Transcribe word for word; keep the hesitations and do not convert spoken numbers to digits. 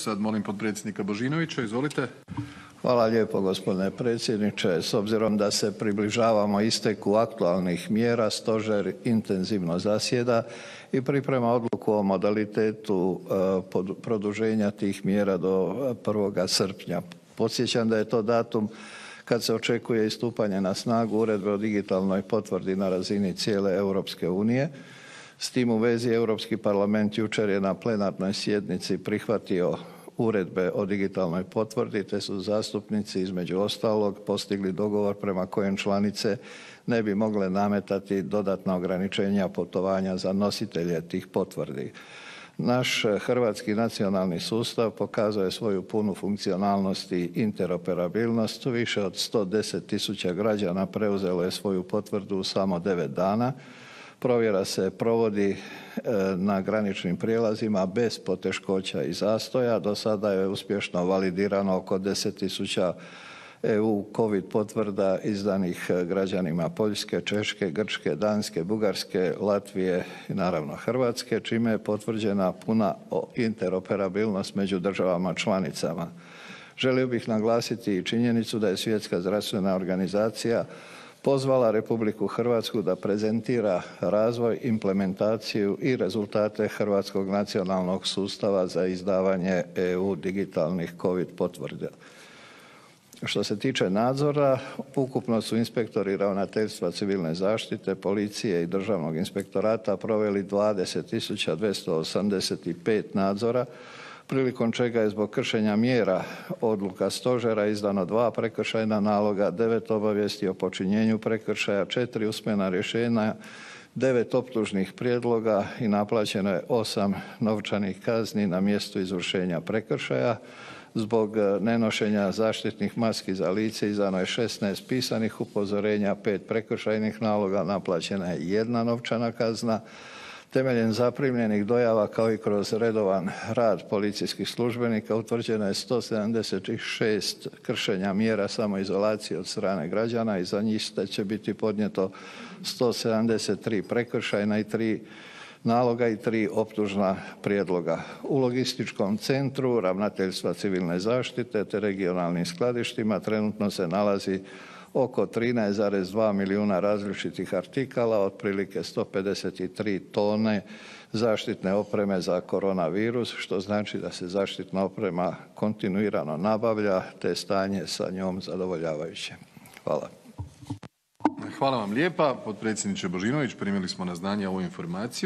Sad molim potpredsjednika Božinovića, izvolite. Hvala lijepo gospodine predsjedniče. S obzirom da se približavamo isteku aktualnih mjera, stožer intenzivno zasjeda i priprema odluku o modalitetu produženja tih mjera do prvog srpnja. Podsjećam da je to datum kad se očekuje i stupanje na snagu uredbe o digitalnoj potvrdi na razini cijele Europske unije. S tim u vezi Europski parlament jučer je na plenarnoj sjednici prihvatio uredbe o digitalnoj potvrdi, te su zastupnici između ostalog postigli dogovor prema kojem članice ne bi mogle nametati dodatna ograničenja putovanja za nositelje tih potvrdi. Naš hrvatski nacionalni sustav pokazuje svoju punu funkcionalnost i interoperabilnost. Više od sto deset tisuća građana preuzelo je svoju potvrdu u samo devet dana. Provjera se provodi na graničnim prijelazima bez poteškoća i zastoja. Do sada je uspješno validirano oko deset tisuća E U COVID potvrda izdanih građanima Poljske, Češke, Grčke, Danske, Bugarske, Latvije i naravno Hrvatske, čime je potvrđena puna interoperabilnost među državama članicama. Želio bih naglasiti i činjenicu da je Svjetska zdravstvena organizacija pozvala Republiku Hrvatsku da prezentira razvoj, implementaciju i rezultate hrvatskog nacionalnog sustava za izdavanje E U digitalnih COVID potvrda. Što se tiče nadzora, ukupno su inspektori Ravnateljstva civilne zaštite, policije i Državnog inspektorata proveli dvadeset tisuća dvjesto osamdeset pet nadzora, prilikom čega je zbog kršenja mjera odluka stožera izdano dva prekršajna naloga, devet obavijesti o počinjenju prekršaja, četiri usmena rješenja, devet optužnih prijedloga i naplaćeno je osam novčanih kazni na mjestu izvršenja prekršaja. Zbog nenošenja zaštitnih maski za lice izdano je šesnaest pisanih upozorenja, pet prekršajnih naloga, naplaćena je jedna novčana kazna. Temeljem zaprimljenih dojava kao i kroz redovan rad policijskih službenika utvrđeno je sto sedamdeset šest kršenja mjera samoizolacije od strane građana i za njih će biti podnijeto sto sedamdeset tri prekršajna i tri naloga i tri optužna prijedloga. U logističkom centru Ravnateljstva civilne zaštite te regionalnim skladištima trenutno se nalazi oko trinaest zarez dva milijuna različitih artikala, otprilike sto pedeset tri tone zaštitne opreme za koronavirus, što znači da se zaštitna oprema kontinuirano nabavlja, te stanje sa njom zadovoljavajuće. Hvala. Hvala vam lijepa, potpredsjedniče Božinović, primili smo na znanje ovu informaciju.